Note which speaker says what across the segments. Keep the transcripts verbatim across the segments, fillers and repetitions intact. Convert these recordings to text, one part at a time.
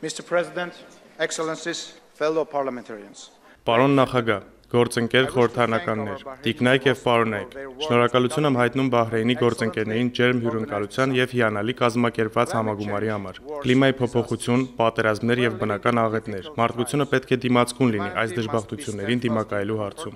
Speaker 1: Mister President, Excellencies, fellow parliamentarians.
Speaker 2: Պարոն նախագահ, գործընկեր խորհրդարանականներ, տիկնայք եւ պարոնայք, շնորհակալություն եմ հայտնում Բահրեյնի գործընկերներին ջերմ հյուրընկալության եւ հիանալի կազմակերպված համագումարի համար։ Կլիմայի փոփոխություն, պատերազմներ եւ բնական աղետներ։ Մարդկությունը պետք է դիմացկուն լինի այս դժբախտություններին դիմակայելու հարցում։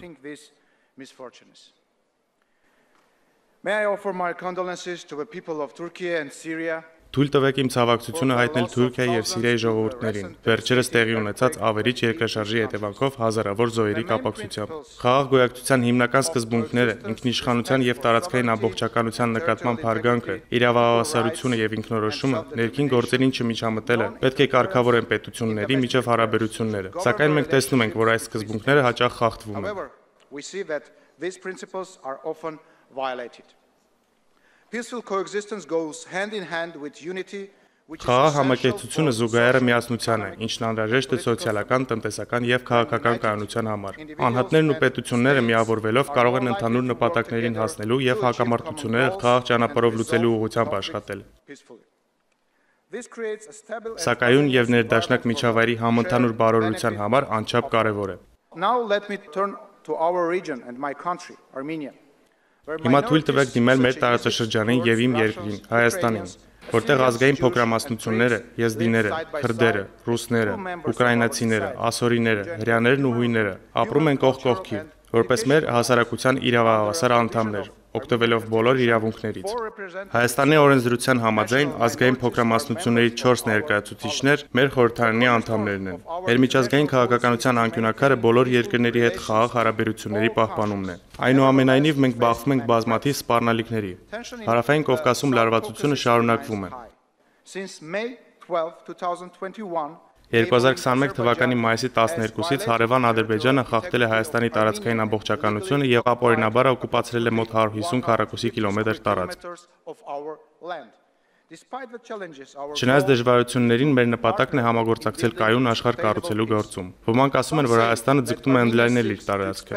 Speaker 1: May I offer my condolences to the people of Turkey and Syria.
Speaker 2: Թույլ տվեք իմ ցավակցությունը հայտնել Թուրքիայի եւ Սիրիայի ժողովուրդներին, վերջերս տեղի ունեցած ավերիչ երկրաշարժի հետևանքով հազարավոր զոհերի կապակցությամբ։ Խաղաղ գոյակցության հիմնական սկզբունքները, ինքնիշխանության եւ տարածքային ամբողջականության նկատմամբ հարգանքը, իրավահավասարությունը եւ ինքնորոշումը, ներքին գործերին չմիջամտելը պետք է կարգավորեն պետությունների միջև հարաբերությունները։ Սակայն մենք տեսնում ենք, որ այս սկզբունքները հաճախ խախտվում են։
Speaker 1: We see that these principles are often violated. Peaceful coexistence goes hand in hand with unity.
Speaker 2: Խաղաղ համակեցությունը զուգահեռը միասնության է, ինչն անհրաժեշտ է սոցիալական, տնտեսական եւ քաղաքական կայունության համար։ Անհատներն ու պետությունները միավորվելով կարող են ընդհանուր նպատակներին հասնելու եւ հակամարտությունները խաղաղ ճանապարհով լուծելու ուղղությամբ աշխատել։ Սակայուն եւ ներդաշնակ միջավայրի համընդհանուր բարօրության համար անչափ կարեւոր է։
Speaker 1: Now let me turn to our region and my country, Armenia.
Speaker 2: Հիմա թույլ տվեք դիմել մեր տարածաշրջանին եւ իմ երկրին, Հայաստանին, որտեղ ազգային փոքրամասնությունները, եզդիները, քրդերը, ռուսները, ուկրաինացիները, ասորիները, հրեաներն ու հույները ապրում են կողք կողքի, որպես մեր հասարակության իրավահավասար անդամներ, օգտվելով բոլոր իրավունքներից։ Հայաստանի օրենսդրության համաձայն ազգային փոքրամասնությունների չորս ներկայացուցիչներ մեր խորհրդարանի անդամներն են։ Ներմիջազգային քաղաքականության անկյունակարը բոլոր երկրների հետ խաղաղ հարաբերությունների պահպանումն է։ Այնուամենայնիվ մենք բախվում ենք բազմաթիվ սպառնալիքների։ Հարավային Կովկասում լարվածությունը շարունակվում է։ երկու հազար քսաներկու թվականի մայիսի տասներկուսից հարևան Ադրբեջանը խախտել է Հայաստանի տարածքային ամբողջականությունը եւ ապօրինաբար օկուպացրել է մոտ հարյուր հիսուն քառակուսի կիլոմետր տարածք։ Չնայած դժվարություններին մեր նպատակն է համագործակցել կայուն աշխարհ կառուցելու գործում։ Ոմանք ասում են, որ Հայաստանը ձգտում է ընդլայնել իր տարածքը։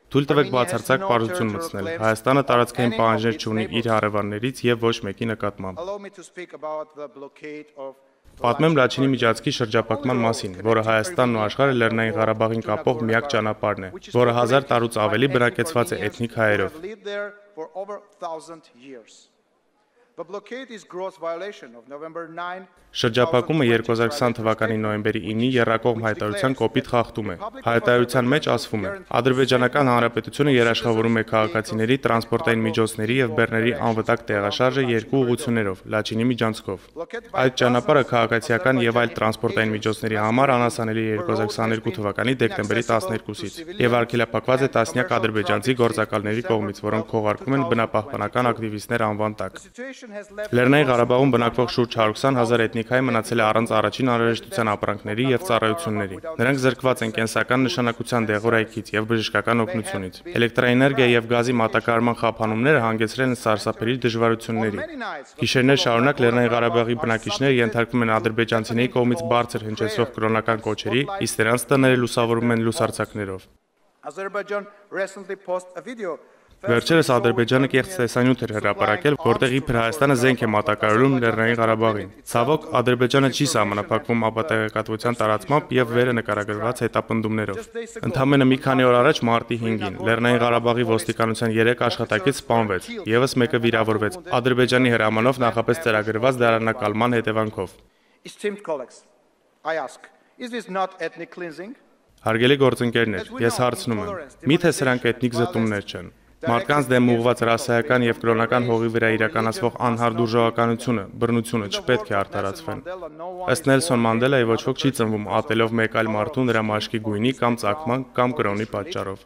Speaker 2: Թույլ տվեք բացարձակ պարզություն մտցնել։ Հայաստանը տարածքային պահանջներ չունի իր հարևաններից եւ ոչ մեկի նկատմամբ։ Պատմեմ Լաչինի միջանցքի շրջափակման մասին, որը Հայաստանն ու աշխարհը Լեռնային Ղարաբաղին կապող միակ ճանապարհն է, որը հազար տարուց ավելի բնակեցված է էթնիկ հայերով։ Շրջափակումը երկու հազար քսան թվականի նոյեմբերի ինի եռակողմ հայտարարության կոպիտ խախտում է։ Հայտարարության մեջ ասվում է. Ադրբեջանական Հանրապետությունը երաշխավորում է քաղաքացիների, տրանսպորտային միջոցների եւ բեռների անվտանգ տեղաշարժը երկու ուղղություններով՝ Լաչինի միջանցքով։ Այդ ճանապարհը քաղաքացիական եւ այլ տրանսպորտային միջոցների համար անհասանելի է երկու հազար քսաներկու թվականի դեկտեմբերի տասներկուսից եւ արգելափակված է տասնյակ ադրբեջանցի գործակալների կողմից, որոնք քողարկում են բնապահպանական ակտիվիստներ անվան տակ։ Լեռնային Ղարաբաղում բնակվող շուրջ հարյուր ութ հազար էթնիկ հայ մնացել է առանց առաջին անհրաժեշտության ապրանքների եւ ծառայությունների։ Նրանք զրկված են կենսական նշանակության դեղորայքից եւ բժշկական օգնությունից։ Էլեկտրաէներգիա եւ գազի մատակարարման խափանումները հանգեցրել են սարսափելի դժվարությունների։ Գիշերներ շարունակ Լեռնային Ղարաբաղի բնակիչները ենթարկվում են ադրբեջանցիների կողմից բարձր հնչեցող կրոնական կոչերի, իսկ նրանց տները լուսավորվում են լուսարձակներով։ Վերջերս Ադրբեջանը կեղծ տեսանյութ էր հրապարակել, որտեղ իբր Հայաստանը զենք է մատակարարում Լեռնային Ղարաբաղին։ Ցավոք, Ադրբեջանը չի սահմանափակվում ապատեղեկատվության տարածմամբ եւ վերը նկարագրված հետապնդումներով։ Ընդամենը մի քանի օր առաջ մարտի հինգին Լեռնային Ղարաբաղի ոստիկանության երեք աշխատակից սպանվեց, եւս մեկը վիրավորվեց Ադրբեջանի հրամանով նախապես ծրագրված դարանակալման հետևանքով։ Հարգելի գործընկերներ, ես հարցնում եմ. միթե սրանք էթնիկ զտումներ չեն։ Մարդկանց դեմ ուղղված ռասայական եւ կրոնական հողի վրա իրականացվող անհարդուրժողականությունը, բռնությունը չպետք է արդարացվեն։ Ըստ Նելսոն Մանդելայի ոչ ոք չի ծնվում ատելով մեկ այլ մարդու նրա մաշկի գույնի կամ ծագման կամ կրոնի պատճառով։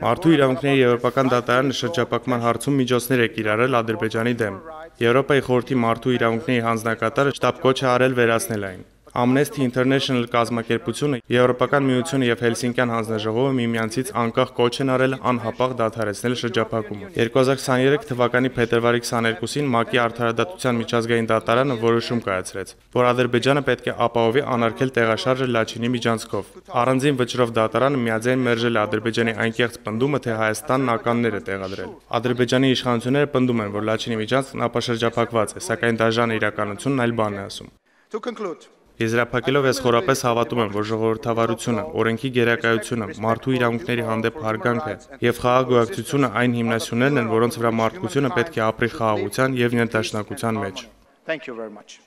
Speaker 2: Մարդու իրավունքների եվրոպական դատարանը շրջափակման հարցում միջոցներ է կիրառել Ադրբեջանի դեմ։ Եվրոպայի խորհրդի մարդու իրավունքների հանձնակատարը շտապ կոչ է արել վերացնել այն։ Amnesty International կազմակերպությունը, Եվրոպական միությունը եւ Հելսինկյան հանձնաժողովը միմյանցից անկախ կոչ են արել անհապաղ դադարեցնել շրջափակումը։ երկու հազար քսաներեք թվականի փետրվարի քսաներկուսին ՄԱԿ-ի Արդարադատության միջազգային դատարանը որոշում կայացրեց, որ Ադրբեջանը պետք է ապահովի անարգել տեղաշարժը Լաչինի միջանցքով։ Առանձին վճռով դատարանը միաձայն մերժել է Ադրբեջանի այնկեղծ պնդումը, թե Հայաստանն ականներ է տեղադրել։ Ադրբեջանի իշխանությունները պնդում են, որ Լաչինի միջանցքն ապաշրջափակված է, սակայն դաժան իրականությունն այլ բան է ասում։
Speaker 1: To conclude,
Speaker 2: Եզրափակելով ես խորապես հավատում եմ, որ ժողովրդավարությունը, օրենքի գերակայությունը, մարդու իրավունքների հանդեպ հարգանքը եւ խաղաղ գոյակցությունը այն հիմնասյուներն են, որոնց վրա մարդկությունը պետք է ապրի խաղաղության եւ ներդաշնակության մեջ։
Speaker 1: Thank you very much.